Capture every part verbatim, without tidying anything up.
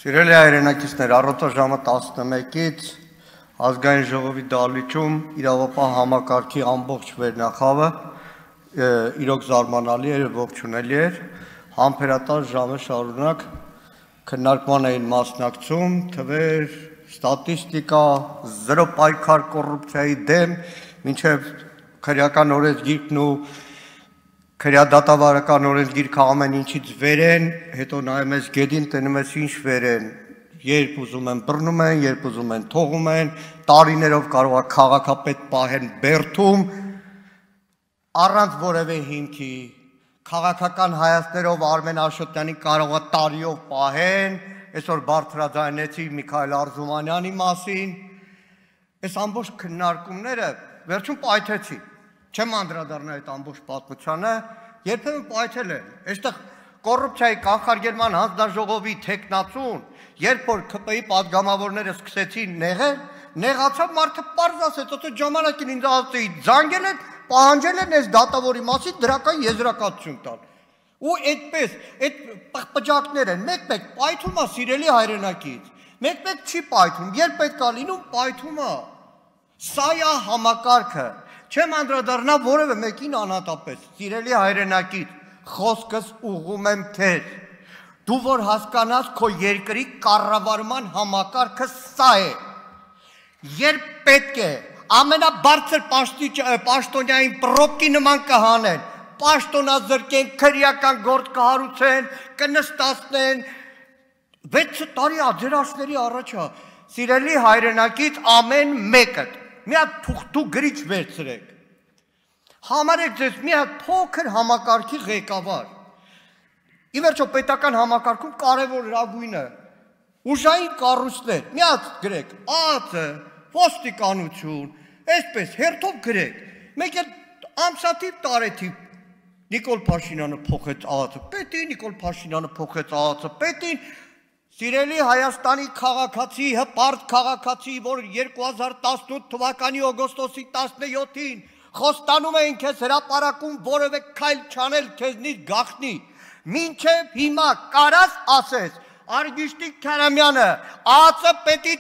Սիրելի հայրենակիցներ, առօրյա ժամը տասնմեկից ազգային ժողովի դահլիճում իրավապահ համակարգի ամբողջ վերնախավը իրոք զարմանալի էր, ողջունելի էր, համբերատար ժամը շարունակ քննարկման էին մասնակցում, թվեր, ստատիստիկա, զրո պայքար կոռուպցիայի դեմ, մինչև քրեական օրենսգիրքն ու քրեադատավարական օրենսգիրքը ամեն ինչից վեր են, հետո նայում ես գետին, տնում ես ինչ վեր են, երբ ուզում են բռնում են, երբ ուզում են թողում են, տարիներով կարող է քաղաքապետ պահեն բերդում, առանց որևէ հիմքի, քաղաքական հայացքներով Արմեն Աշոտյանին կարող է տարիով պահեն, այսօր բարձրաձայնեցի Միքայել Արզումանյանի մասին, այս ամբողջ քննարկումները վերջում պայթեցի, չեմ անդրադառնա այդ ամբողջ պատմությանը, երբեմն պայթել են, այստեղ կոռուպցիայի կանխարգելման հանձնաժողովի թեկնածուն, երբ որ ՔՊ-ի պատգամավորները սկսեցին նեղել, նեղացավ մարդը պարզ ասեց, ότι ժամանակին ինձ ասեցի, զանգել են, պահանջել են այս դատավորի մասին դրական եզրակացություն տալ։ Ու այդպես, այդ պղպջակներ են, մեկ-մեկ պայթում է սիրելի հայրենակից, մեկ-մեկ չի պայթում, երբ պետք է լինում, պայթում է։ Սա է համակարգը։ Չեմ անդրադառնա որևէ մեկին անհատապես, սիրելի հայրենակից, խոսքս ուղղում եմ քեզ, դու որ հասկանաս քո երկրի կառավարման համակարգը սա է, երբ պետք է ամենաբարձր պաշտոնյային պրոբկի նման կհանեն, պաշտոնազրկեն, քրեական գործ կհարուցեն, կնստացնեն, վեց տարի աջերաշների առաջ է, սիրելի հայրենակից ամեն մեկը մի հատ թուղթու գրիչ վերցրեք, համարեք ձեզ մի հատ փոքր համակարգի ղեկավար, ի վերջո պետական համակարգում կարևորագույնը, ուժային կառույցներ, մի հատ գրեք, ԱԱԾ, ոստիկանություն, այսպես հերթով գրեք, մեկ էլ ամսաթիվ տարեթիվ Նիկոլ Փաշինյանը փոխեց ԱԱԾ պետին, Նիկոլ Փաշինյանը փոխեց ԱԱԾ պետին, Սիրելի Հայաստանի քաղաքացի, հպարտ քաղաքացի, որ երկու հազար տասնութ թվականի օգոստոսի տասնյոթին խոստանում էին քեզ հրապարակում որևէ քայլ չանել քեզնից գաղտնի, մինչև հիմա կարաս ասես, Արգիշտիկ Քարամյանը ԱԱԾ պետի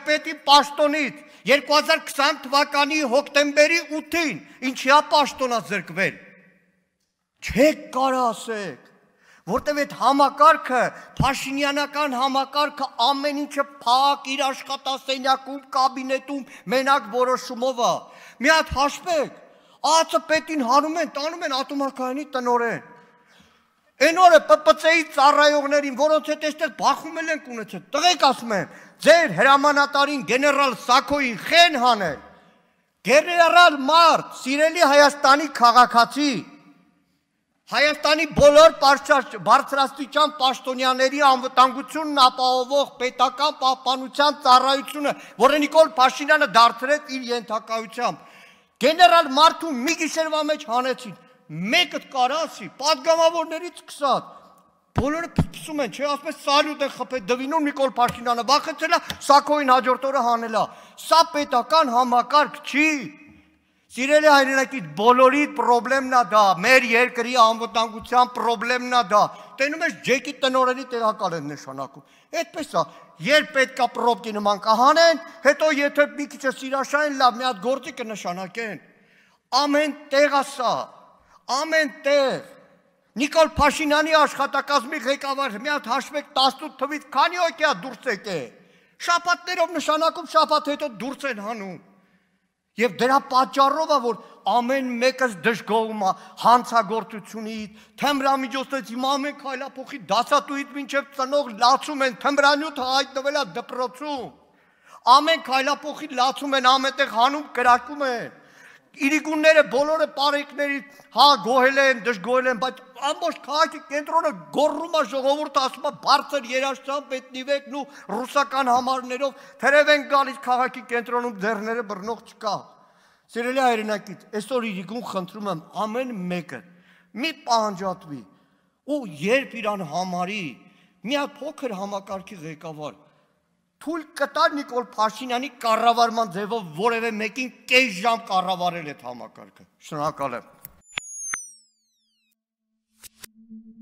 պետի պաշտոնից երկու հազար քսան թվականի հոկտեմբերի ութին ինչի է պաշտոնազրկվել, չեք կարա ասեք, որտև այդ համակարգը, Փաշինյանական համակարգը ամեն ինչը փակ իր աշխատասենյակում, կաբինետում, մենակ որոշումով է, մի հատ հաշվեք, ԱԱԾ պետին հանում են, տանում են ատոմակայանի տնօրեն, այն օրը ՊՊՑ-ի ծառայողներին, որոնց հետ այստեղ բախումել ենք ունեցել, տղեկ ասում եմ, ձեր հրամանատարին գեներալ Սաքոյին խեն հանել, գեներալ մարդ, սիրելի Հայաստանի քաղաքացի, Հայաստանի բոլոր բարձրաստիճան պաշտոնյաների անվտանգությունն ապահովող պետական պահպանության ծառայությունը, որը Նիկոլ Փաշինյանը դարձրեց իր ենթակայությամբ, գեներալ մարդու մի գիշերվա մեջ հանեցին, մեկը կարասի, պատգամավորներից սկսած, բոլորը փսփսում են, չէ, ասում են սալյուտ են խփել դվինում Նիկոլ Փաշինյանը վախեցել է, Սաքոյին հաջորդ օրը հանել է, սա պետական համակարգ չի։ Սիրելի հայրենակից, բոլորի պրոբլեմն է դա, մեր երկրի անվտանգության պրոբլեմն է դա, տենում ես ջեկի տնօրենի տեղակալ են նշանակում, այդպես է, երբ պետք է պրոբկի նման կհանեն, հետո եթե մի քիչ սիրաշային լավ մի հատ գործի կնշանակեն, ամեն տեղ է սա, ամեն տեղ, Նիկոլ Փաշինյանի աշխատակազմի ղեկավար, մի հատ հաշվեք տասնութ թվից քանի հոգի է դուրս եկել, շաբաթներով նշանակում շաբաթ հետո դուրս են հանում, Եվ դրա պատճառով է, որ ամեն մեկս դժգոհում է հանցագործությունից, թմրամիջոցներից, հիմա ամեն քայլափոխի դասատուից մինչև ծնող լացում են, թմրանյութը հայտնվել է դպրոցում, ամեն քայլափոխի լացում են, ամենտեղ հանում կրակում են, իրիկունները բոլորը պարեկներից հա գոհել են, դժգոհել են, բայց ամբողջ քաղաքի կենտրոնը գոռում է, ժողովուրդը ասում է բարձր երաժշտությամբ էթնիվեկն ու ռուսական համարներով թերև են գալիս քաղաքի կենտրոնում ձեռները բռնող չկա։ Սիրելի հայրենակից, այսօր իրիկուն խնդրում եմ ամեն մեկը մի պահանջատվի ու երբ իրան համարի մի հատ փոքր համակարգի ղեկավար թույլ կտա Նիկոլ Փաշինյանի կառավարման ձևով որևէ մեկին կես ժամ կառավարել այդ համակարգը։ Շնորհակալ եմ։